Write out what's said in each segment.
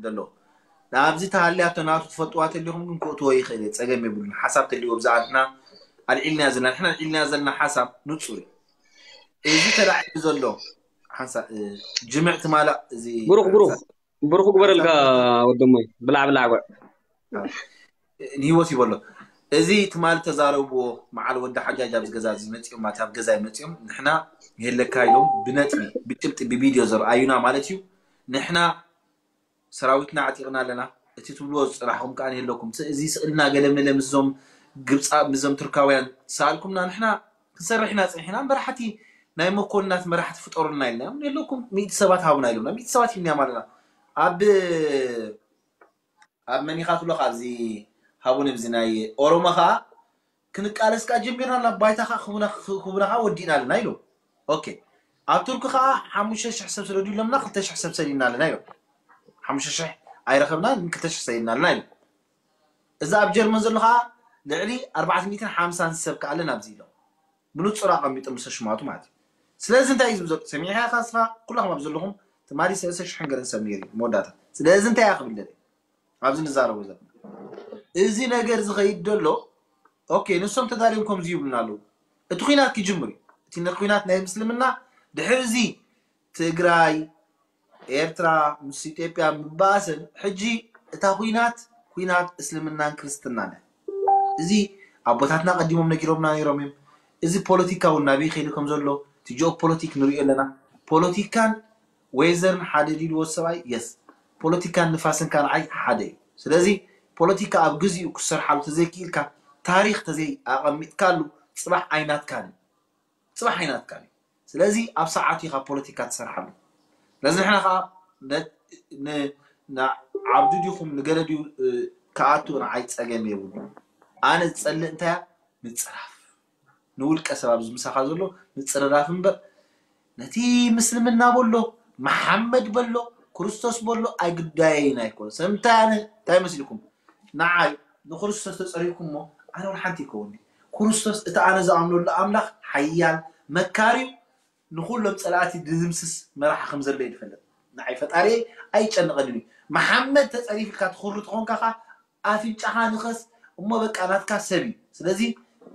ዘሎ። ናብዚ ተሃልያቶ ናቱ ትፈልጥዋ ተሊኹም ግን ክእትዎ ይኽእል እየ፣ ጸገም የብሉን። ሓሳብ ተልዎ ብዛዕባትና ኣልዒልና ዘለና፣ ንሕና ኣልዒልና ዘለና ሓሳብ ንጹር እዩ። እዚ ተላዒሉ ዘሎ ሓንሳ-፣ እ፣ ጅምዕ ትማላ እዚ ብሩኽ፣ ብሩኽ፣ ሓንሳ-፣ ብሩኽ ግበረልካ ሓንሳ-፣ ወደሞይ። ብላዕ፣ ብላዕ፣ ጓዕ። ንህይወት ይበሎ። እዚ ትማሊ ተዛረብዎ መዓል ወዲ ሓጃጅ ኣብዚ ገዛ እዚ መጺኦም፣ ማለት ኣብ ገዛ መጺኦም፣ ንሕና የለካ ኢሎም ብነጥቢ፣ ብጭብጢ፣ ብቪድዮ ዘርኣዩና ማለት እዩ። ንሕና ሰራዊትና ኣዕጢቕና ኣለና። እቲ ትብልዎ ዝጽናሕኩም ከኣ የለኩም። እቲ እዚ ስእልና ገለ መለ ምስዞም ግብጻ-፣ ምስዞም ቱርካውያን ሰኣልኩምና፣ ንሕና ክንሰርሕ ኢና ጸኒሕና። እምበር ሓቲ ናይ መኮንናት መራሕቲ ፍጠሩልና ኢልና፣ የለኩም፣ ሚእቲ ሰባት ሃቡና ኢሎምና። ሚእቲ ሰባት ሂብናዮም ኣለና። ኣብ፣ ኣብ መን ኢኻ ትብሎ፣ ካብዚ ሃቡኒ፣ ኣብዚ ናይ ኦሮሞ ኸኣ ክንቃለስ ከኣ ጀሚርና፣ ናብ ባይታ ኸኣ ክቡና፣ ክቡና ኸኣ ወዲእና ኣለና ኢሎም። ኦኬ። ኣብ ቱርኪ ኸኣ ሓሙሽተ ሽሕ ሰብ ስደዱ ኢሎምና፣ ክልተ ሽሕ ሰብ ሰዲድና ኣለና ኢሎም። ሓሙሽተ ሽሕ ኣይረኸብናን፣ ክልተ ሽሕ ሰዲድና ኣለና ኢሎም። እዚ ኣብ ጀርመን ዘሎ ኸኣ ልዕሊ ኣርባዕተ ሚእትን ሓምሳን ሰብ ከኣ ኣለና ኣብዚ ኢሎም። ብንጹር ኣቐሚጦም፣ ምስ ሽማቱ ማለት እዩ። ስለዚ እንታይ እዩ ዝብል ዘሎ? ሰሚዕካ ኢኻ ንስኻ? ኩላኹም ኣብ ዘለኹም ትማሊ ሰለስተ ሽሕን ገለን ሰብ ነይሩ እዩ መወዳእታ። ስለዚ እንታይ እየ ክብል ደልየ? ኣብዚ ንዛረቦ ዘለና። እዚ ነገር ዝኸይድ ዘሎ፣ ኦኬ፣ ንሶም ተዳልዮም ከምዚ ይብሉና ኣለዉ። እቲ ኲናት ክጅምር እዩ። እቲ ነ-፣ ኲናት ናይ ምስልምና ድሕሪ እዚ ትግራይ፣ ኤርትራ ምስ ኢትዮጵያ ምባእሰን፣ ሕጂ እታ ኲናት፣ ኲናት እስልምናን ክርስትናን እያ። እዚ ኣቦታትና ቀዲሞም ነጊሮምና ነይሮም እዮም። እዚ ፖለቲካ እውን ናበይ ከይዱ ከም ዘሎ፣ እቲ ጂኦፖለቲክ ንሪኦ ኣለና። ፖለቲካን ዌዘርን ሓደ ድዩ ዝወ-፣ ሰብኣይ? የስ። ፖለቲካን ንፋስን ከኣ ንዓይ ሓደ እዩ። ስለዚ ፖለቲካ ኣብ ግዜኡ ክሰርሓሉ ተዘይክኢልካ፣ ታሪኽ ተዘይ ኣቐሚጥካሉ፣ ጽባሕ ኣይናትካን እዩ። ጽባሕ ኣይናትካን እዩ። ስለዚ ኣብ ሰዓቱ ኢኻ ፖለቲካ ትሰርሓሉ። ስለዚ ንሕና ኸኣ ነ-፣ ን-፣ ንዓብዱ ዲኹም ንገለ ድዩ፣ እ፣ ክኣቱ ንዓይ ጸገም የብሉን። ኣነ ዝጸልእ እንታይ እያ? ምጽራፍ። ንውልቀ ሰብ ኣብዚ ምሳኻ ዘሎ ምጽርራፍ እምበር፣ ነቲ ምስልምና በሎ፣ መሓመድ በሎ፣ ክርስቶስ በሎ ኣይግዳየይን ኣይኮነ። ሰብ እንታይ ኣነ፣ እንታይ መስልኩም? ንዓይ ንክርስቶስ ተጸሪፍኩሞ፣ ኣነ እውን ሓንቲ ይከውንኒ። ክርስቶስ እቲ ኣነ ዝኣምነሉ ኣምላኽ ሓያል፣ መካሪ፣ ንኹሎም ጸላእቲ ድምስስ መራሒ ከም ዘሎ እዩ ዝፈልጥ። ንዓይ ፈጣሪየይ ኣይጨንቐንን እዩ። መሓመድ ተጸሪፍልካ ትኹሪ ተኾንካ ኸኣ ኣፍንጫኻ ንኸስ እሞ በቃ ናትካ ሰብ እዩ። ስለዚ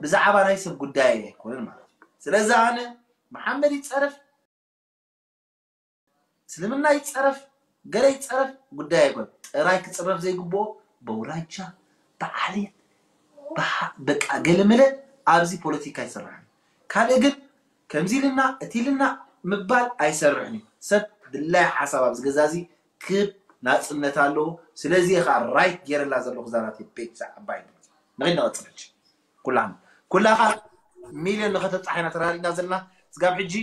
ብዛዕባ ናይ ሰብ ጉዳይ ኣይኮነን ማለት እዩ። ስለዚ ኣነ መሓመድ ይጸረፍ፣ እስልምና ይጸረፍ፣ ገለ ይጸረፍ ጉዳይ ኣይኮነን። ጥራይ ክጽረፍ ዘይግብኦ በውራጃ፣ ብዓሌት፣ ብሓ-፣ በቃ ገለ መለ ኣብዚ ፖለቲካ ኣይሰርሕን። ካልእ ግን ከምዚ ኢልና እቲ ኢልና ምባል ኣይሰርሕን እዩ። ሰብ ድላይ ሓሳብ ኣብዚ ገዛ እዚ ክብ ናጽነት ኣለዎ። ስለዚ እየ ኸኣ ራይት ገይረላ ዘለኹ እዛ ናተይ ፔጅ እዛ ዓባይ ንኺድ ንቐጽል ሕጂ። ኩላህና፣ ኩላኻ ሚልዮን ንኸተብጽሓ ኢና ተራዲእና ዘለና። ስጋብ ሕጂ፣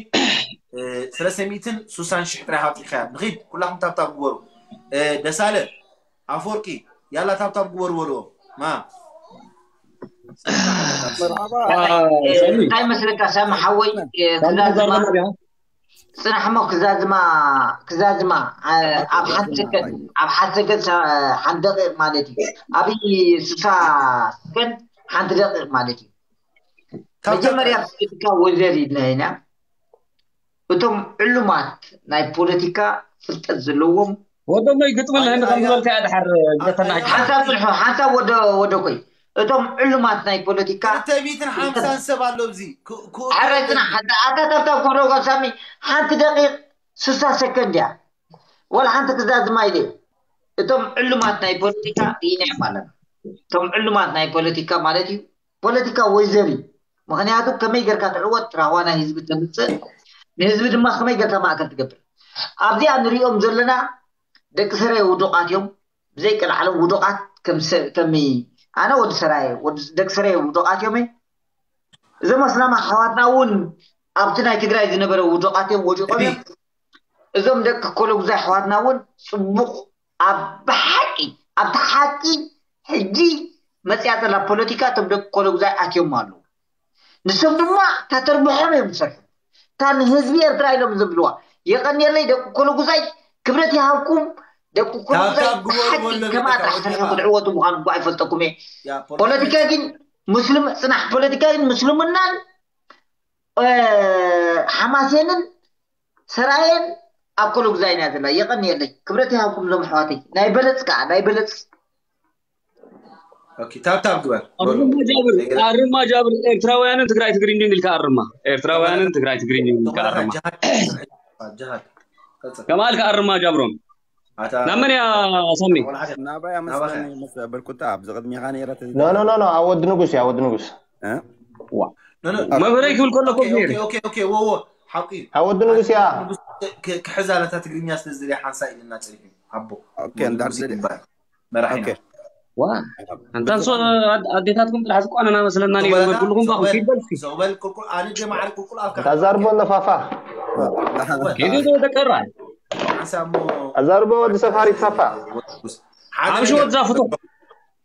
እ፣ ሰለስተ ሚእትን ስሳን ሽሕ ጥራይ ኣውጺእካያ። ንኺድ፣ ኩላኹም ታብታብ ግበሩ። እ፣ ደሳለ፣ ኣፈወርቂ፣ ያላ ታብታብ ግበሩ በልዎ። ማ? መርሓባ። አ፣ ሳሚ። እንታይ መስለካ ሳሚ ሓወይ፣ እ፣ ሳሚ ክዛዝማ፣ ዘርባ ነቢያ። ጽናሕ እሞ ክዛዝማ፣ ክዛዝማ፣ አ፣ ኣብ ሓንቲ ሰከንድ፣ ኣብ ሓንቲ ሰከንድ ሳ-፣ ሓንቲ ደቂቕ ማለት እዩ። ኣብ ስሳ ሰከንድ ሓንቲ ደቂቕ ማለት እዩ። ካብ መጀመርያ ፖለቲካ ወዘር ኢልና ኢና። እቶም ዕሉማት ናይ ፖለቲካ ፍልጠት ዘለዎም ወደሞይ ግጥሚ ናይ፣ ንህንዲ ከም ናይ፣ ዝበልካ እያ ድሓር ናይ፣ ዘተናጅ። ሓንሳብ ጽንሑ፣ ሓንሳብ ወደ፣ ወደ ኮይ። እቶም ዕሉማት ናይ ፖለቲካ ክልተ ሚእትን ሓምሳን ሰብ ኣሎ ኣብዚ። ክ-፣ ክ-፣ ኣረ ጽናሕ፣ ሓንታ፣ ኣታ ታብታብ ክብሎ ሳሚ፣ ሓንቲ ደቂቕ ስሳ ሰከንድ እያ። ወላ ሓንቲ ክዛዝማ ኢለ። እቶም ዕሉማት ናይ ፖለቲካ ርኢናዮም ኣለና። እቶም ዕሉማት ናይ ፖለቲካ ማለት እዩ፣ ፖለቲካ ወይዘር እዩ። ምኽንያቱ ከመይ ጌርካ ትዕወት፣ ራህዋ ናይ ህዝቢ ተምጽእ፣ ንህዝቢ ድማ ከመይ ጌርካ ማእከል ትገብር። ኣብዚኣ ንሪኦም ዘለና ደቂ ሰራየ ውዱቓት እዮም። ብዘይ ቀልዓለም ውዱቓት ከም ሰ-፣ ከም ኣነ ወዲ ሰራየ፣ ወዲ፣ ደቂ ሰራየ ውዱቓት እዮም። እዞም ኣስላም ኣሕዋትና እውን ኣብቲ ናይ ትግራይ ዝነበረ ውዱቓት እዮም፣ ወዲቖም እዮም። እዞም ደቂ ኮሎጉዛይ ኣሕዋትና እውን ጽቡቕ ኣብ ብሓቂ፣ ኣብቲ ሓቂ ሕጂ መጽያ ዘላ ፖለቲካ እቶም ደቂ ኮሎጉዛይ ኣትዮም ኣለዉ። ንሶም ድማ እታ ተርብሖም እዮም ዝሰርሑ። እታ ንህዝቢ ኤርትራ ኢሎም ዝብልዋ። የቐንየለይ ደቂ ኮሎጉዛይ፣ ክብረት ይሃብኩም። ደቂ ኮሎጉዛይ ታብታብ ግበሩ ብሓቂ ወለሉ ከማኣ ተካወት ጥራሕ ሰርሑ ኢኻ። ክትዕወቱ ምዃኑ እኳ ኣይፈልጠኩም እየ። ያ፣ ፖለቲካ ፖለቲካ ግን ምስልም-፣ ጽናሕ ፖለቲካ ግን ምስልምናን፣ እ፣ ሓማሴንን ሰራየን ኣብ ኮሎ ግዛይና ዘላ የቐንየለይ። ክብረት ይሃብኩም ዞም ኣሕዋተይ። ናይ በለጽ ከዓ ናይ በለጽ ኦኬ፣ ታብታብ ግበር። ኣርማ ጃብር ኣርማ ጃብር ኤርትራውያንን ትግራይ ትግርኝ ኢልካ ኣርማ ኤርትራውያንን ትግራይ ትግርኝ ኢልካ ኣርማ ጅሃድ ቀጽል። ከማልካ ኣርማ ጃብሮም ኣታ ናብ መን እያ ሳሚ ናባይ ኣመስለኒ መስ በልኩታ ኣብዚ ቅድሚኻ ነይረ ኖ ኖ ኖ ኖ ኣብ ወዲ ንጉስ እያ ወዲ ንጉስ ኖ ኖ መብረይ ክብል ከለኩ ኦኬ ነይሩ ኦኬ ኦኬ ወዎ ሓቂ እዩ። ኣብ ወዲ ንጉስ እያ ንጉስ ክ- ክሕዛ ነታ ትግርኛ ስለ ዝደልያ ሓንሳ ኢልና ጸኒሑ ኣቦ ኦኬ፣ እንድሕር ንጉስ ስለ- ይባል መራሒና ኦኬ። ዋ ኣንታ ንሶ ኣዴታትኩም ጥራሕ ዝቋነና መስለና ነይሩ ዞበለና በልኩልኩም ባ ዞበል ይበልኩ ዞበል ቁልቁል ኣነ ጀማዓሪ ቁልቁል ኣፍካ ታዛርቦ ኣለፋፋ ሄዱ ተቀራ ሓንሳ እሞ ኣዛርቦ ወዲ ሰፋሪ ፋፋ ሓደ ሓምሽ ነገር ወዛ ፍቶ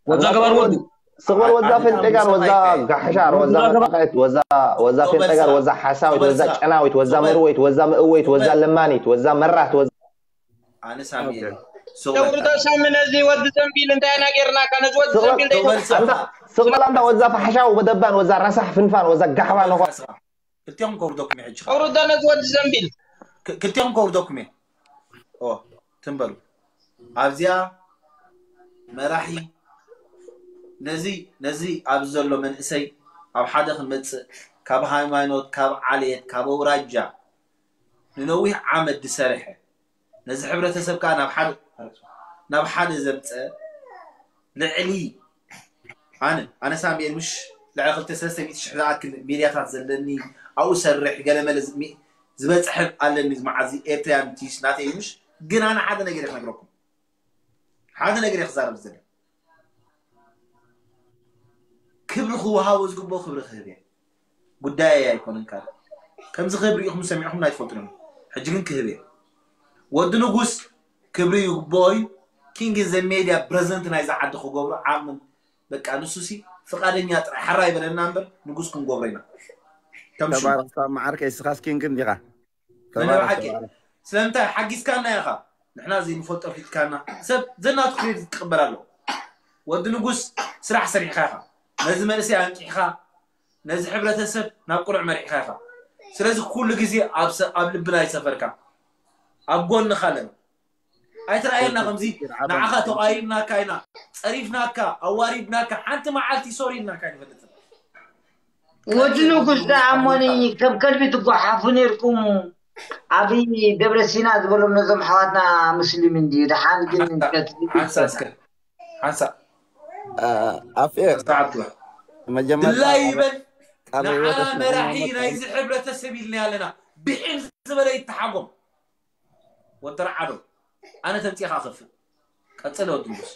ወዛ ገባር ወዲ ስቕበል ወዛ ፌንጤጋር ወዛ ጋሕሻር ወዛ መቃየት ወዛ ወዛ ፌንጤጋር ወዛ ሓሳዊት ወዛ ጨናዊት ወዛ መርወይት ወዛ ምእወይት ወዛ ለማኒት ወዛ መራት ወዛ ኣነ ሳሚ ኦኬ። ሶበል ተውርዶ ሳሚ ነዚ ወዲ ዘንቢል እንታይ ኢና ጌርናካ ነዚ ወዲ ዘንቢል ደይ ስቕበል ኣንታ ወዛ ፋሕሻው በደባን ወዛ ረሳሕ ፍንፋን ወዛ ጋሕባ ነኾ ክልቲኦም ከውርደኩም ሕጂ ተውርዶ ነዚ ወዲ ዘንቢል ክልቲኦም ከውርደኩም እየ ኦ ትንበሩ ኣብዚኣ መራሒ ነዚ ነዚ ኣብዚ ዘሎ መንእሰይ ኣብ ሓደ ክንመፅእ ካብ ሃይማኖት ካብ ዓሌት ካብ ኣውራጃ ንነዊሕ ዓመት ዝሰርሐ ነዚ ሕብረተሰብ ከዓ ናብ ሓደ ናብ ሓደ ዘምፀ ልዕሊ ኣነ ኣነ ሳሙኤል ምሽ ልዕሊ ክልተ ሰለስተ ሚእቲ ሽሕ ዝኣክል ሚድያታት ዘለኒ ኣብኡ ሰርሕ ገለመለ ዝበፅሐ ኣለኒ መዓዚ ኤርትራያን ቲስ ናተይ ምሽ ግን ኣነ ሓደ ነገር ክነግረኩም ሓደ ነገር ክዛረብ ዝደለ ክብሪ ክወሃቦ ዝግብኦ ክብሪ ክህብ እየ ጉዳይ ኣይኮነን ካልእ ከምዚ ክህብ ርኢኹም ሰሚዕኹም ኣይትፈልጡን ሕጂ ግን ክህብ እየ ወዲ ንጉስ ክብሪ ይግብኦ እዩ king is a media president ናይዛ ዓዲ ክገብሮ ዓቕምን በቃ ንሱ ሲ ፍቃደኛ ጥራይ ሓራ ይበለና እምበር ንጉስ ክንገብሮ ኢና ከም ሽሙ ተባረክ ሳብ መዓርከ እስኻስ ኪንግ እንዲኻ መን ተባረክ ብሓቂ ተባረክ ስለምንታይ ሓጊዝካና ኢኻ ንሕና ዘይንፈልጦ ፊትካና ሰብ ዘናቱ ክሬዲት ክቅበል ኣለዎ ወዲ ንጉስ ስራሕ ሰሪሕካ ኢኻ ነዚ መንእሰይ ኣንቂሕካ ነዚ ሕብረተሰብ ናብ ቁኑዕ መሪሕካ ኢኻ ስለዚ ኩሉ ግዜ ኣብ ሰ- ኣብ ልብና ይሰፈርካ ኣብ ጎንኻ ኣለና ኣይትረኣየና ከምዚ ንዓኻ ተቓይምናካ ኢና ጸሪፍናካ ኣዋሪድናካ ሓንቲ መዓልቲ ሶሪ ኢልናካ ኣይንፈልጥን ወዲ ንጉስ ደኣ እሞኒ ከም ከልቢ ትጓሓፉ ነርኩም ኣብይ ደብረ ሲና ዝበሎም ነዞም ሓዋትና ሙስሊም እንድዩ ደሓን ግን ሓንሳ እስከ ሓንሳ ኣፌ ሰዓት ግባ መጀመርያ ድላይ ይበል ቃለ ንዓና ህይወት መራሒ ናይዚ ሕብረተሰብ ኢልና ኣለና ብሒም ዝበለ ይተሓጎም ወዲ ረዓዶ ኣነ ተምፂኻ ከፍእ ቀፅለ ወዲ ንጉስ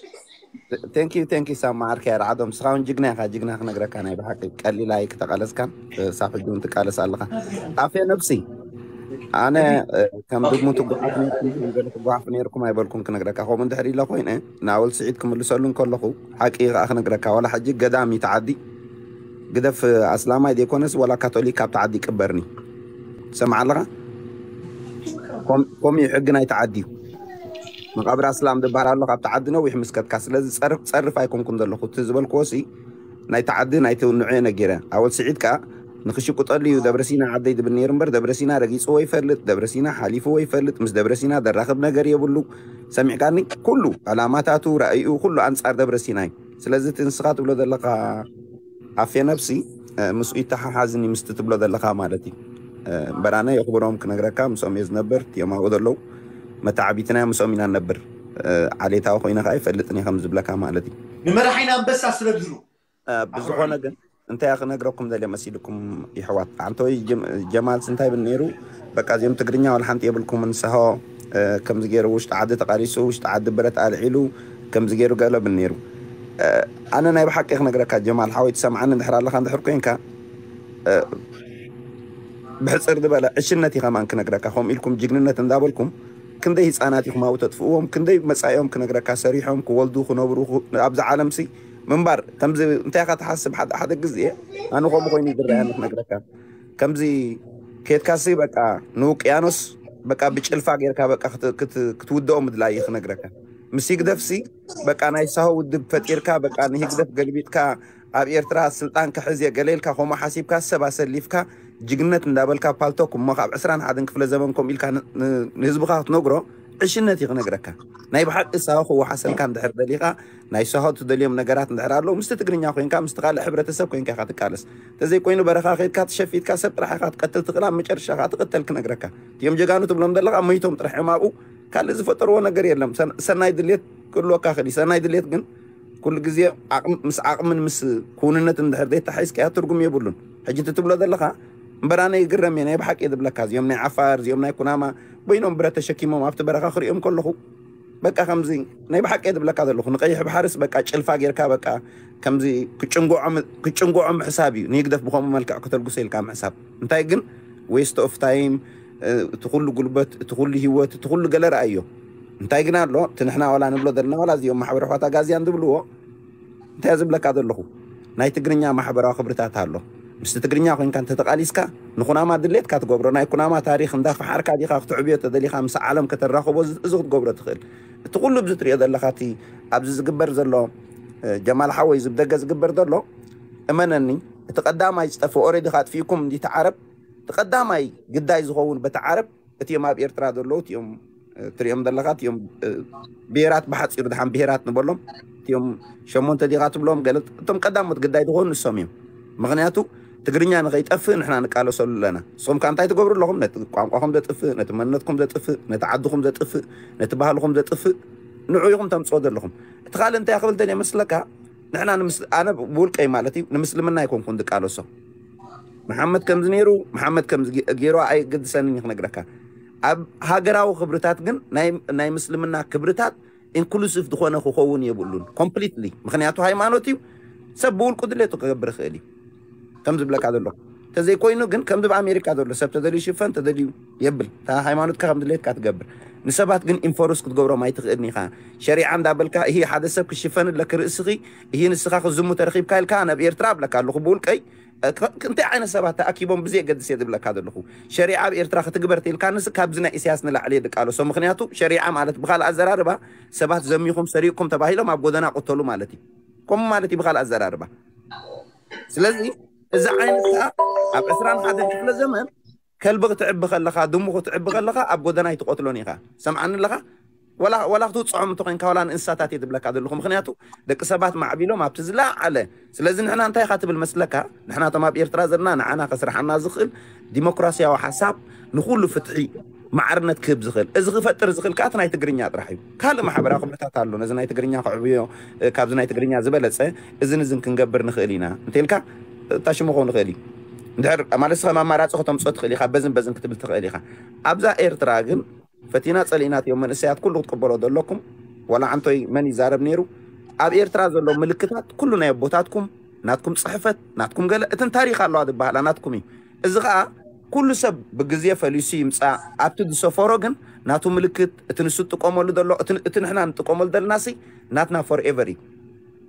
ቴንኪ ቴንኪ ሳማ ዓርከይ ኣርዓዶም ንስኻ እውን ጅግና ኢኻ ጅግና ክነግረካ ናይ ብሓቂ ቀሊል ኣይ ክተቃለስካን ክሳብ ሕጂ እውን ትቃለስ ኣለኻ ኣፌ ነብሲ ኣነ ከም ድሙ ትጓሓፍ ነርኩም ከም ገለ ትጓሓፍ ነርኩም ኣይበልኩም ክነግረካ ከምኡ እንድሕር ኢለ ኮይነ ንኣወል ስዒድ ክምልሰሉ እንከለኹ ሓቂ ከዓ ክነግረካ ዋላ ሕጂ ገዳም እዩ ተዓዲ ግደፍ ኣስላማይ ዘይኮነስ ዋላ ካቶሊክ ካብ ተዓዲ ቅበርኒ ትሰምዓ ኣለኻ ከምኡ እዩ ሕጊ ናይ ተዓዲ እዩ መቃብር ኣስላም ዝበሃል ኣሎ ካብ ተዓዲ ነዊሕ ምስከትካ ስለዚ ፀርፍ ፀርፍ ኣይኮንኩን ዘለኹ እቲ ዝበልክዎ ሲ ናይ ተዓዲ ናይ ትውንዑ እየ ነጊረ ኣወል ስዒድ ከዓ ንክሽቁጠሉ እዩ ደብረሲና ዓደይ ዝብል ነይሩ እምበር ደብረሲና ረጊፅዎ ይፈልጥ ደብረሲና ሓሊፍዎ ይፈልጥ ምስ ደብረሲና ዘራኽብ ነገር የብሉ ሰሚዕካኒ ኩሉ ዕላማታቱ ራእይኡ ኩሉ ኣንፃር ደብረሲና እዩ ስለዚ እቲ ንስኻ ትብሎ ዘለካ ኣፌ ነብሲ ምስኡ ይተሓሓዝኒ ምስቲ ትብሎ ዘለካ ማለት እዩ እምበር ኣነ የኽብሮም ክነግረካ ምስኦም እየ ዝነብር እዮም ኣብኡ ዘለዉ መተዓቢትና ምስኦም ኢና ንነብር ዓሌታዊ ኮይነ ከዓ ይፈልጥን እየ ከም ዝብለካ ማለት እዩ ንመራሒና ኣንበሳ ስለ ዝብሉ ብዝኾነ ግን እንታይ ክነግረኩም ደልየ መሲልኩም ይሕዋት ኣንተወይ ጀማልስ እንታይ ብል ነይሩ በቃ እዚኦም ትግርኛ ዋላ ሓንቲ የብልኩምን ሰሆ ከምዚ ገይሩ ውሽጢ ዓዲ ተቃሊሱ ውሽጢ ዓዲ ብረት ኣልዒሉ ከምዚ ገይሩ ገለ ብል ነይሩ ኣነ ናይ ብሓቂ ክነግረካ ጀማል ሓወይ ትሰምዓኒ እንድሕር ኣለካ እንድሕር ኮንካ ብሕፅር ዝበለ ዕሽነት እዩ ከማን ክነግረካ ከምኡ ኢልኩም ጅግንነት እንዳበልኩም ክንደይ ህፃናት ኢኹም ኣብኡ ተጥፍእዎም ክንደይ መፃኢኦም ክነግረካ ሰሪሖም ክወልዱ ክነብሩ ኣብዛ ዓለምሲ ምንባር ከምዚ እንታይ ኢኻ ትሓስብ ሓደ ሓደ ግዜ ኣነ ከምኡ ኮይኑ ዝረኣየኒ ክነግረካ ከምዚ ኬድካሲ በቃ ንውቅያኖስ በቃ ብጭልፋ ጌርካ በቃ ክትውድኦ ምድላይ እዩ ክነግረካ ምስ ይግደፍሲ በቃ ናይ ሳሆ ውድብ ፈጢርካ በቃ ንህግደፍ ገልቢጥካ ኣብ ኤርትራ ስልጣን ክሕዝ እየ ገለ ኢልካ ከምኡ ሓሲብካ ሰብ ኣሰሊፍካ ጅግነት እንዳበልካ ፓልቶክ እሞ ካብ ዕስራን ሓደን ክፍለ ዘመን ከምኡ ኢልካ ን- ን- ንህዝብኻ ክትነግሮ ዕሽነት እዩ ክነግረካ። ናይ ብሓቂ ሳሆ ክወሓሰልካ እንድሕር ደሊኻ ናይ ሳሆ ትደልዮም ነገራት እንድሕር ኣለዉ ምስቲ ትግርኛ ኮይንካ ምስቲ ካልእ ሕብረተሰብ ኮይንካ ኢኻ ትቃለስ። እንተዘይኮይኑ በረኻ ከይድካ ተሸፊትካ ሰብ ጥራሕ ኢኻ ትቀትል ትኽእል ኣብ መጨረሻ ከዓ ትቕተል ክነግረካ። እቲኦም ጀጋኑ ትብሎም ዘለኻ መይቶም ጥራሕ እዮም ኣብኡ ካልእ ዝፈጠርዎ ነገር የለም። ሰን- ሰናይ ድሌት ክህልወካ ክእል እዩ። ሰናይ ድሌት ግን ኩሉ ግዜ ዓቕም- ምስ ዓቕምን ምስ ክውንነት እንድሕር ዘይተሓይዝካያ ትርጉም የብሉን። ሕጂ እቲ ትብሎ ዘለኻ እምበር ኣነ ይግረም እየ ናይ ብሓቂ እየ ዝብለካ። እዚኦም ናይ ዓፋር እዚኦም ናይ ኩናማ በይኖም ብረት ተሸኪሞም ኣብቲ በረኻ ክሪኦም ከለኹ በቃ ከምዚ ናይ ብሓቂ እየ ዝብለካ ዘለኹ ንቀይሕ ባሕርስ በቃ ጭልፋ ጌርካ በቃ ከምዚ ክጭንጎዖም ክጭንጎዖም ምሕሳብ እዩ ንህግደፍ ብኸምኡ መልክዕ ከተልጉሶ ኢልካ ምሕሳብ እንታይ ግን waste of time እቲ ኩሉ ጉልበት እቲ ኩሉ ህይወት እቲ ኩሉ ገለ ረኣዮ እንታይ ግን ኣሎ እቲ ንሕና ዋላ ንብሎ ዘለና ዋላ እዚኦም ማሕበረ ኳታ ጋዝያን ዝብልዎ እንታይ ዝብለካ ዘለኹ ናይ ትግርኛ ማሕበራዊ ክብርታት ኣሎ ምስቲ ትግርኛ ኮይንካ እንተተቃሊስካ ንኩናማ ድሌትካ ትገብሮ ናይ ኩናማ ታሪክ እንዳፈሓርካ ዲካ ክትዕብዮ ተደሊካ ምስ ዓለም ከተራኽቦ እዚ ክትገብሮ ትኽእል እቲ ኩሉ ብዚ ትሪኦ ዘለካ እቲ ኣብዚ ዝግበር ዘሎ ጀማል ሓወይ ዝብደገ ዝግበር ዘሎ እመነኒ እቲ ቀዳማይ ዝጠፍእ ኦሬዲ ካጥፊእኩም እንዲቲ ዓረብ እቲ ቀዳማይ ግዳይ ዝኸውን በቲ ዓረብ እቲኦም ኣብ ኤርትራ ዘለዉ እቲኦም ትሪኦም ዘለኻ እቲኦም ብሄራት ብሓፂሩ ድሓን ብሄራት ንበሎም እቲኦም ሸሞንተ ዲኻ ትብሎም ገለ እቶም ቀዳሞት ግዳይ ዝኾኑ ንሶም እዮም ምክንያቱ ትግርኛ ንኸይጠፍእ ንሕና ንቃለሰሉ ኣለና ንስኹም ከ እንታይ ትገብሩ ኣለኹም ነቲ ቋንቋኹም ዘጥፍእ ነቲ መንነትኩም ዘጥፍእ ነቲ ዓድኹም ዘጥፍእ ነቲ ባህልኹም ዘጥፍእ ንዑ ኢኹም ተምፅኦ ዘለኹም እቲ ካልእ እንታይ ክብል ደልየ መስለካ ንሕና ኣነ ብውልቀይ ማለት እዩ ንምስልምና ኣይኮንኩን ዝቃለሶ መሓመድ ከምዚ ነይሩ መሓመድ ከምዚ ገይሩ ኣይግድሰንን ክነግረካ ኣብ ሃገራዊ ክብርታት ግን ናይ ምስልምና ክብርታት ኢንክሉሲቭ ዝኾነ ክኸውን የብሉን ኮምፕሊትሊ ምክንያቱ ሃይማኖት እዩ ሰብ ብውልቁ ድሌቱ ክገብር ይኽእል እዩ ከም ዝብለካ ዘሎ ተዘይኮይኑ ግን ከምዚ ኣብ ኣሜሪካ ዘሎ ሰብ ተደልዩ ሽፈን ተደልዩ የብል ሃይማኖትካ ከም ድሌትካ ትገብር ንሰባት ግን ኢንፎርስ ክትገብሮም ኣይትኽእልን ኢኻ ሸሪዓ እንዳበልካ ይህ ሓደ ሰብ ክሽፈን ኣለክ ርእስኺ ይህ ንስኻ ክዝሙ ተረኺብካ ኢልካ ናብ ኤርትራ ኣብለካ ኣለኹ ብውልቀይ እንታይ ዓይነት ሰባት ተኣኪቦም ብዘየገድስ እየ ዝብለካ ዘለኹ ሸሪዓ ኣብ ኤርትራ ክትግበር ተልካ ንስ ካብዚ ናይ ኢሳያስ ንላዕሊ የድቃለሶ ምክንያቱ ሸሪዓ ማለት ብካልእ ኣዘራርባ ሰባት ዘሚኹም ሰሪቕኩም ተባሂሎም ኣብ ጎደና ቁተሉ ማለት እዩ ከምኡ ማለት እዩ ብካልእ ኣዘራርባ ስለዚ እዚ ዓይነት ከዓ ኣብ ዕስራን ሓደን ክፍለ ዘመን ከልቢ ክትዕቢ ከለኻ ድሙ ክትዕቢ ከለኻ ኣብ ጎደና ኣይትቆትሎን ኢኻ ሰምዓኒ ኣለኻ ወላ ክትውፅዖም እንተኮይንካ ወላ ንእንስሳታት እየ ዝብለካ ዘለኹ ምክንያቱ ደቂ ሰባት ማዕቢሎም ኣብቲ ዝለዓለ ስለዚ ንሕና እንታይ ኢኻ ትብል መስለካ ንሕናቶም ኣብ ኤርትራ ዘለና ንዓና ከስርሓና ዝኽእል ዲሞክራሲያዊ ሓሳብ ንኩሉ ፍትሒ ማዕርነት ክህብ ዝኽእል እዚ ክፈጥር ዝኽእል ከኣ ናይ ትግርኛ ጥራሕ እዩ ካልእ ማሕበራዊ ክብርታት ኣሎ ነዚ ናይ ትግርኛ ክዕብዮ ካብዚ ናይ ትግርኛ ዝበለፀ እዝን እዝን ክንገብር ንኽእል ኢና እንተልካ ታሽሞ ክኸውን ንኽእል እዩ እንድሕር ማለት ስኻ ኣማራፂ ከተምፅኦ ትኽእል ኢኻ በዝን በዝን ክትብል ትኽእል ኢኻ ኣብዛ ኤርትራ ግን ፈቲና ጸሊእና እዮም መንእሰያት ኩሉ ክትቅበሎ ዘለኩም ዋላ ዓንቶይ መን ይዛረብ ነይሩ ኣብ ኤርትራ ዘሎ ምልክታት ኩሉ ናይ ኣቦታትኩም ናትኩም ጽሕፈት ናትኩም ገለ እትን ታሪኽ ኣለዋ ዝበሃላ ናትኩም እዩ እዚ ኸኣ ኩሉ ሰብ ብግዜ ፈሊሱ ይምጻእ ኣብቲ ዝሰፈሮ ግን ናቱ ምልክት እቲ ንሱ ትጥቀመሉ ዘሎ እቲ ንሕና ንጥቀመሉ ዘለና ሲ ናትና ፎርኤቨር እዩ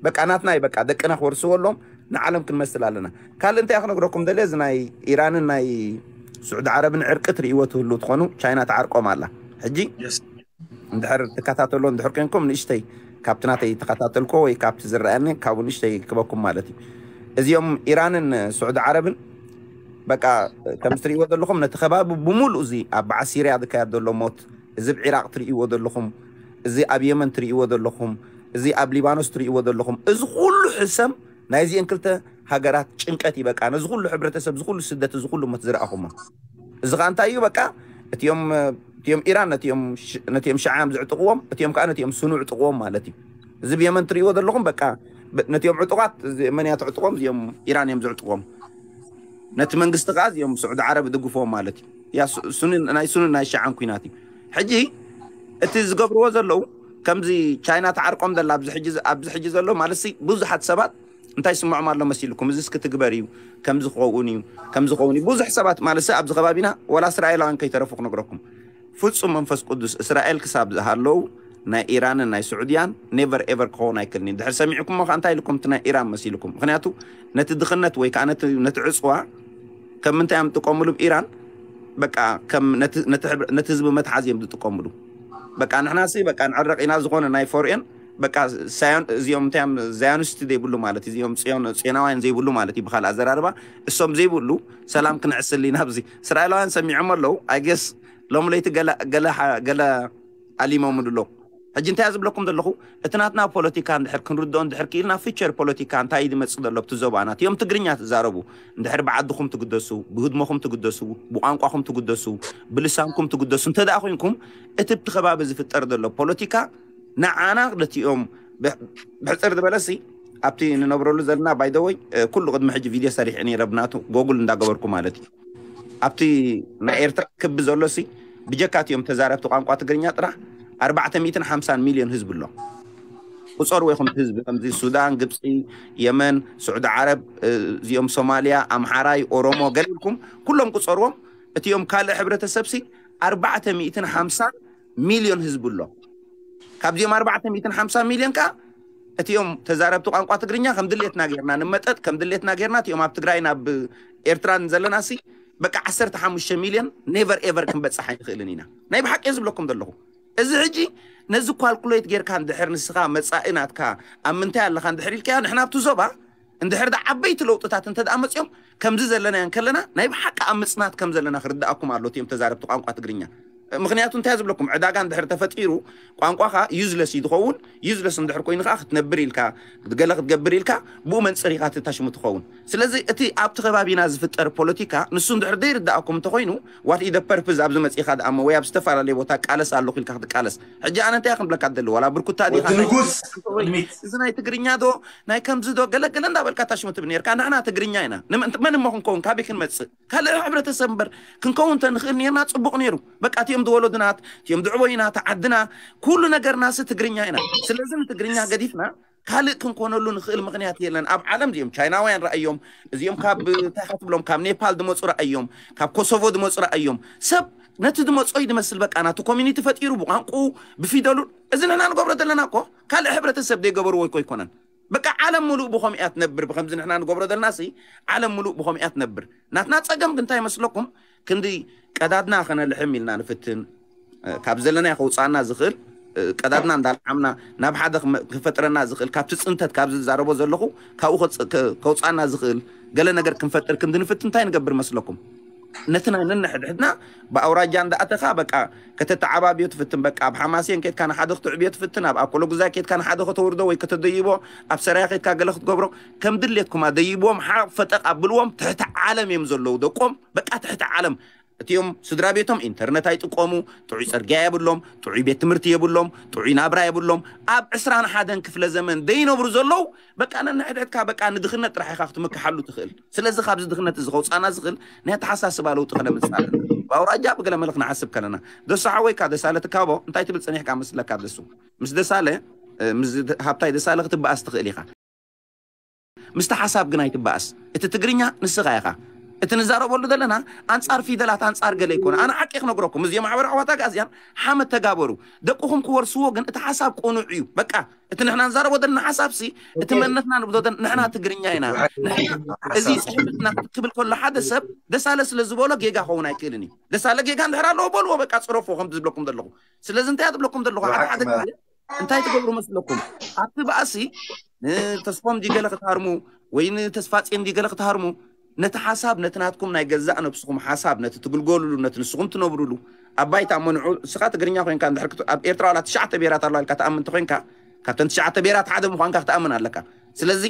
በቃ ናትና እዩ በቃ ደቅና ክወርስዎ ኣሎም ንዓለም ክንመስል ኣለና ካልእ እንታይ ክነግረኩም ደለ እዚ ናይ ኢራንን ናይ ስዑዲ ዓረብን ዕርቂ ትርእይዎ ትህሉ ትኾኑ ቻይና ትዓርቆም ኣላ ሕጂ እንድሕር ትከታተሎ እንድሕር ኮንኩም ንእሽተይ ካብቲ ናተይ ተከታተልኮ ወይ ካብቲ ዝረኣየኒ ካብኡ ንእሽተይ ክበኩም ማለት እዩ እዚኦም ኢራንን ስዑዲ ዓረብን በቃ ከም ትርእይዎ ዘለኹም ነቲ ከባቢ ብምሉእ እዚ ኣብ በዓል ሲርያ ዝካየድ ዘሎ ሞት እዚ ኣብ ዒራቅ ትርእይዎ ዘለኹም እዚ ኣብ የመን ትርእይዎ ዘለኹም እዚ ኣብ ሊባኖስ ትርእይዎ ዘለኹም እዚ ኩሉ ሕሰም ናይዚአን ክልተ ሃገራት ጭንቀት ይበቃ ነዚ ኩሉ ሕብረተሰብ ዝኩሉ ስደት እዚ ኩሉ ሞት ዝረኣኹሞ እዚ ከዓ እንታይ እዩ በቃ እቲኦም እቲኦም ኢራን ነቲኦም ነቲኦም ሸዓም ዝዕጥቕዎም እቲኦም ከዓ ነቲኦም ሱኑ ዕጥቕዎም ማለት እዩ እዚ ብየመን ትርእይዎ ዘለኹም በቃ ነቲኦም ዕጡቓት መን እያ ትዕጥቖም እዚኦም ኢራን እዮም ዝዕጥቖም ነቲ መንግስቲ ከዓ እዚኦም ስዑዲ ዓረብ ይድግፍዎም ማለት እዩ ናይ ሱንን ናይ ሸዓን ኩናት እዩ ሕጂ እቲ ዝገብርዎ ዘለዉ ከምዚ ቻይና ተዓርቆም ዘላ ኣብዚ ሕጂ ዘሎ ማለት ብዙሓት ሰባት እንታይ ይስምዖም ኣሎ መሲልኩም እዚስ ክትግበር እዩ ከምዚ ክኸውን እዩ ከምዚ ክኸውን እዩ ብዙሕ ሰባት ማለት ኣብዚ ከባቢና ወላ እስራኤላውያን ከይተረፉ ክነግረኩም ፍጹም መንፈስ ቅዱስ እስራኤል ክሳብ ዝሃለዉ ናይ ኢራንን ናይ ስዑድያን never ever ክኸውን ኣይክልኒ ድሕር ሰሚዕኩሞ ከዓ እንታይ ኢልኩም እቲ ናይ ኢራን መሲልኩም ምክንያቱ ነቲ ድኽነት ወይ ከዓ ነቲ ዕፅዋ ከም ምንታይ እዮም ዝጥቀምሉ ብ ኢራን በቃ ከም ነቲ ህዝቢ መትሓዝ እዮም ዝጥቀምሉ በቃ ንሕና ሲ በቃ ንዕረቕ ኢና ዝኾነ ናይ ፎርኤን በቃ ሳዮን እዚኦም እንታይ እዮም፣ ዛዮኒስት ዘይብሉ ማለት እዩ። እዚኦም ጽዮን ጽዮናውያን ዘይብሉ ማለት እዩ። ብኻልእ ኣዘራርባ እሶም ዘይብሉ ሰላም ክንዕስል ኢና ኣብዚ። እስራኤላውያን ሰሚዖም ኣለዉ። I guess ሎም ለይቲ ገለ ገለ ሓ- ገለ ኣሊሞም ኣሎ። ሕጂ እንታይ ዝብለኩም ዘለኹ፣ እቲ ናትና ፖለቲካ እንድሕር ክንርድኦ እንድሕር ክኢልና፣ ፊቸር ፖለቲካ እንታይ እዩ ዝመጽእ ዘሎ ኣብቲ ዞባና፣ እቲኦም ትግርኛ ትዛረቡ እንድሕር ብዓድኹም ትግደሱ፣ ብህድሞኹም ትግደሱ፣ ብቋንቋኹም ትግደሱ፣ ብልሳንኩም ትግደሱ እንተ ደኣ ኮይንኩም፣ እቲ ኣብቲ ከባቢ ዝፍጠር ዘሎ ፖለቲካ ንዓና ነቲኦም ብሕፅር ዝበለሲ ኣብቲ ንነብረሉ ዘለና ባይደወይ ኩሉ ቅድሚ ሕጂ ቪድዮ ሰሪሐ ነይረ ብናቱ ጎጉል እንዳገበርኩ ማለት እዩ። ኣብቲ ናይ ኤርትራ ክቢ ዘሎ ሲ ብጀካ እቲኦም ተዛረብቲ ቋንቋ ትግርኛ ጥራሕ ኣርባዕተ ሚእትን ሓምሳን ሚልዮን ህዝቢ ኣሎ። ቁፀርዎ ኢኹም እቲ ህዝቢ ከምዚ ሱዳን፣ ግብፂ፣ የመን፣ ስዑዲ ዓረብ፣ እዚኦም ሶማልያ፣ ኣምሓራይ፣ ኦሮሞ ገለ ኢልኩም ኩሎም ቁፀርዎም። እቲኦም ካልእ ሕብረተሰብ ሲ ኣርባዕተ ሚእትን ሓምሳን ሚልዮን ህዝቢ ኣሎ። ካብዚኦም ኣርባዕተ ሚእትን ሓምሳ ሚልዮን ከዓ እቲኦም ተዛረብቲ ቋንቋ ትግርኛ ከም ድሌትና ጌርና ንመጠጥ፣ ከም ድሌትና ጌርና እቲኦም ኣብ ትግራይ ናብ ኤርትራን ዘለና ሲ በቃ ዓሰርተ ሓሙሽተ ሚልዮን ኔቨር ኤቨር ክንበፅሕ ኣይንኽእልን ኢና። ናይ ብሓቂ ዝብለኩም ዘለኹ እዚ ሕጂ ነዚ ኳልኩሌት ጌርካ እንድሕር ንስኻ መፃኢ ናትካ ኣብ ምንታይ ኣለኻ እንድሕር ኢልካዮ ንሕና ኣብቲ ዞባ እንድሕር ዳ ዓበይቲ ለውጥታት እንተ ደኣ መፅኦም ከምዚ ዘለና እንከለና ናይ ብሓቂ ኣብ ምፅናት ከም ዘለና ክርድኣኩም ኣሎ እቲኦም ተዛረብቲ ቋንቋ ትግርኛ። ምክንያቱ እንታይ ዝብለኩም ዕዳጋ እንድሕር ተፈጢሩ ቋንቋኻ ዩዝለስ እዩ ዝኸውን። ዩዝለስ እንድሕር ኮይኑ ከዓ ክትነብር ኢልካ ገለ ክትገብር ኢልካ ብኡ መንፅር ኢኻ ተታሽሙ ትኸውን። ስለዚ እቲ ኣብቲ ከባቢና ዝፍጠር ፖለቲካ ንሱ እንድሕር ዘይርድኣኩም እንተኮይኑ what is the purpose ኣብዚ መፂኻ ደኣ እሞ ወይ ኣብ ዝተፈላለየ ቦታ ቃለስ ኣለኹ ኢልካ ክትቃለስ። ሕጂ ኣነ እንታይ ክንብለካ ደሊ ዋላ ብርኩታ ዲኻ ወዲ ንጉስ ቅድሚት እዚ ናይ ትግርኛ ዶ ናይ ከምዚ ዶ ገለገለ እንዳበልካ ታሽሙ ትብል ነርካ። ንሕና ትግርኛ ኢና። ንምን- መን እሞ ክንከውን ካበይ ክንመፅእ ካልእ ሕብረተሰብ እምበር ክንከውን ተንኽእል ነርና ፅቡቕ ነይሩ። በቃ እቲኦም ዝወለዱና እቲኦም ዝዕበዩና ተዓድና ኩሉ ነገርናሲ ትግርኛ ኢና። ስለዚ ንትግርኛ ገዲፍና ካልእ ክንኮነሉ ንኽእል ምኽንያት የለን። ኣብ ዓለም እዚኦም ቻይናውያን ረኣዮም፣ እዚኦም ካብ እንታይ ክትብሎም ካብ ኔፓል ዝመፁ ረኣዮም፣ ካብ ኮሶቮ ዝመፁ ረኣዮም። ሰብ ነቲ ዝመፆ እዩ ዝመስል በቃ ናቱ ኮሚኒቲ ፈጢሩ ብቋንቁ ብፊደሉ። እዚ ንሕና ንገብሮ ዘለና እኮ ካልእ ሕብረተሰብ ዘይገበርዎ እኮ ኣይኮነን። በቃ ዓለም ሙሉእ ብኸምኡ እያ ትነብር። ብከምዚ ንሕና ንገብሮ ዘለና ሲ ዓለም ሙሉእ ብኸምኡ እያ ትነብር። ናትና ፀገም ግን እንታይ ይመስለኩም? ክንዲ ቀዳድና ከነልሕም ኢልና ንፍትን ካብ ዘለናዮ ከውፃና ዝኽእል ቀዳድና እንዳልዓምና ናብ ሓደ ክፈጥረና ዝኽእል ካብቲ ፅንተት ካብ ዝዛረቦ ዘለኹ ካብኡ ከውፃና ዝኽእል ገለ ነገር ክንፈጥር ክንዲ ንፍትን እንታይ ንገብር መስለኩም? ነቲ ናይ ነንሕድሕድና ብኣውራጃ እንዳኣተኻ በቃ ከተተዓባብዮ ትፍትን በቃ ኣብ ሓማሴን ኬድካ ንሓደ ክትዕብዮ ትፍትን ኣብ ኣኮሎጉዛይ ኬድካ ንሓደ ከተውርዶ ወይ ከተደይቦ ኣብ ሰራያ ኬድካ ገለ ክትገብሮ ከም ድሌትኩም ኣደይብዎም ሓ ፈጠቕ ኣብልዎም ትሕቲ ዓለም እዮም ዘለዉ ደቆም በቃ ትሕቲ ዓለም እቲኦም ስድራ ቤቶም ኢንተርነት ኣይጥቀሙ፣ ጥዑይ ፅርግያ የብሎም፣ ጥዑይ ቤት ትምህርቲ የብሎም፣ ጥዑይ ናብራ የብሎም። ኣብ ዕስራን ሓደን ክፍለ ዘመን ዘይነብሩ ዘለዉ በቃ ነንሕድሕድካ በቃ ንድኽነት ጥራሕ ኢኻ ክትምክሓሉ ትኽእል። ስለዚ ካብዚ ድኽነት እዚ ከውፃና ዝኽእል ናይ ኣተሓሳስባ ለውጢ ከነምፅእ ኣለና። ብኣውራጃ ብገለ መልክ ንሓስብ ከለና ደሱ ሓወይካ ደሳለ ትካቦ እንታይ ትብል ፀኒሕካ መስለካ ደሱ ምስ ደሳለ ምስ ሃብታይ ደሳለ ክትበኣስ ትኽእል ኢኻ። ምስቲ ሓሳብ ግን ኣይትበኣስ። እቲ ትግርኛ ንስኻ ኢኻ። እቲ ንዛረበሉ ዘለና ኣንጻር ፊደላት ኣንጻር ገለ ይኮነ። ኣነ ሓቂ ክነግረኩም እዚኦም ማሕበር ኣሕዋት ኣግኣዝያን ሓመድ ተጋበሩ። ደቅኹም ክወርስዎ ግን እቲ ሓሳብ ቅኑዕ እዩ። በቃ እቲ ንሕና ንዛረቦ ዘለና ሓሳብ ሲ እቲ መንነትና ንብሎ ዘለና ንሕና ትግርኛ ኢና። ንሕና እዚ ጽሕፍትና ክብል ከሎ ሓደ ሰብ ደሳለ ስለ ዝበሎ ጌጋ ክኸውን ኣይክእልን እዩ። ደሳለ ጌጋ እንድሕር ኣለዎ በልዎ በቃ ጽረፎ ከም ዝብለኩም ዘለኹ። ስለዚ እንታይ ዝብለኩም ዘለኹ ሓደ ሓደ ግዜ እንታይ ትገብሩ መስለኩም ኣብቲ ባእሲ ንተስፎም ዲገለ ክትሃርሙ ወይ ንተስፋ ፂን ዲገለ ክትሃርሙ ነቲ ሓሳብ ነቲ ናትኩም ናይ ገዛእ ነብስኹም ሓሳብ ነቲ ትግልገሉሉ ነቲ ንስኹም ትነብሩሉ ኣብ ባይታ እሞ ንዑ እስኻ ትግርኛ ኮይንካ እንድሕር ክት- ኣብ ኤርትራ ዋላ ትሽዓተ ብሄራት ኣለዋ ኢልካ ትኣምን እንተኮይንካ ካብተን ትሽዓተ ብሄራት ሓደ ምዃንካ ክትኣምን ኣለካ ስለዚ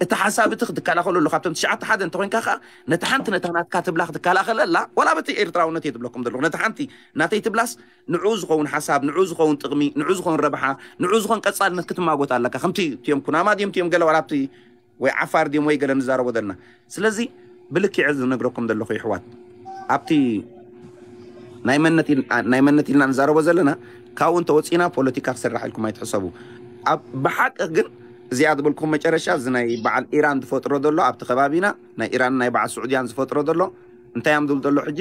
እቲ ሓሳብ እቲ ክትከላኸለሉ ካብተን ትሽዓተ ሓደ እንተኮይንካ ከዓ ነቲ ሓንቲ ነታ ናትካ ትብላ ክትከላኸለላ ዋላ በቲ ኤርትራውነት እየ ትብለኩም ዘለኹ ነቲ ሓንቲ ናተይ ትብላስ ንዑ ዝኸውን ሓሳብ ንዑ ዝኸውን ጥቕሚ ንዑ ዝኸውን ረብሓ ንዑ ዝኾን ቀፃልነት ክትማጎት ኣለካ ከምቲ እቲኦም ኩናማ ድዮም እቲኦም ገለ ዋላ ኣብቲ ወይ ዓፋር ድዮም ወይ ገለ ንዛረቦ ዘለና ስለዚ ብልክዕ ዝነግረኩም ዘለኹ ይሕዋት ኣብቲ ናይ መነት ኢል- ናይ መነት ኢልና ንዛረቦ ዘለና ካብኡ እንተወፂና ፖለቲካ ክስራሕ ኢልኩም ኣይትሕሰቡ ኣብ ብሓቂ ግን እዚኣ ዝበልኩም መጨረሻ እዚ ናይ በዓል ኢራን ዝፈጥሮ ዘሎ ኣብቲ ከባቢና ናይ ኢራን ናይ በዓል ስዑድያን ዝፈጥሮ ዘሎ እንታይ እዮም ዝብል ዘሎ ሕጂ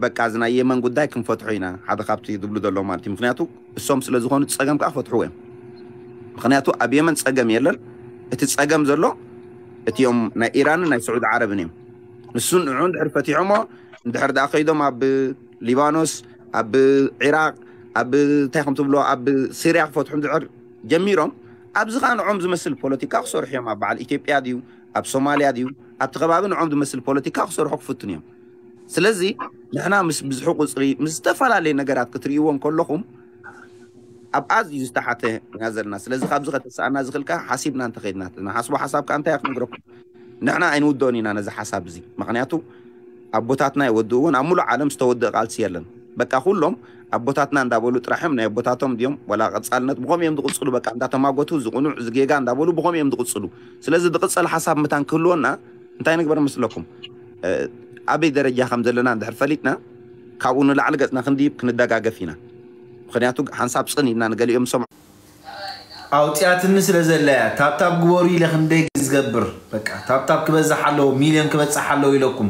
በቃ እዚ ናይ የመን ጉዳይ ክንፈትሖ ኢና ሓደ ካብቲ ዝብሉ ዘሎ ማለት እዩ ምክንያቱ እሶም ስለ ዝኾኑ ፀገም ከዓ ክፈትሕዎ እዮም ምክንያቱ ኣብ የመን ፀገም የለን እቲ ፀገም ዘሎ እቲኦም ናይ ኢራንን ናይ ስዑድ ዓረብን እዮም ንሱ ንዑ እንድሕር ፈቲሖሞ እንድሕር ደኣ ከይዶም ኣብ ሊባኖስ ኣብ ዒራቅ ኣብ እንታይ ከም ትብሎ ኣብ ሲርያ ክፈትሑ እንድሕር ጀሚሮም ኣብዚ ከዓ ንዖም ዝመስል ፖለቲካ ክሰርሑ እዮም። ኣብ በዓል ኢትዮጵያ ድዩ ኣብ ሶማልያ ድዩ ኣብቲ ከባቢ ንዖም ዝመስል ፖለቲካ ክሰርሑ ክፍትኑ እዮም። ስለዚ ንሕና ምስ ብዝሒ ቁፅሪ ምስ ዝተፈላለየ ነገራት ክትርእይዎ እንከለኹም ኣብ ኣዝዩ ዝተሓተ ኢና ዘለና። ስለዚ ካብዚ ከተስኣና ዝኽእል ከዓ ሓሲብና እንተኸድና ንሓስቦ ሓሳብ ከዓ እንታይ ክንግረኩም ንሕና ኣይንውድኦን ኢና ነዚ ሓሳብ እዚ። ምክንያቱ ኣቦታትና ይወድእዎን ኣብ ሙሉእ ዓለም ዝተወድእ ቃልሲ የለን። በቃ ኩሎም ኣቦታትና እንዳበሉ ጥራሕም ናይ ኣቦታቶም ድዮም ወላ ቀፃልነት ብኸም እዮም ዝቕፅሉ በቃ እንዳተማጎቱ ዝቕኑዕ ዝጌጋ እንዳበሉ ብኸም እዮም ዝቕፅሉ። ስለዚ ዝቕፀል ሓሳብ ምታን ክህልወና እንታይ ንግበር መስለኩም? ኣበይ ደረጃ ከም ዘለና እንድሕር ፈሊጥና ካብኡ ንላዕሊ ገፅና ክንድይብ ክንደጋገፍ ኢና። ምክንያቱ ሓንሳብ ፅን ኢልና ንገሊኦም ዝሰምዑ ኣውፅያትኒ ስለ ዘለያ ታብታብ ግበሩ ኢለ ክንደይ ዝገብር በቃ ታብታብ ክበዝሕ ኣለዎ ሚልዮን ክበፅሕ ኣለዎ ኢለኩም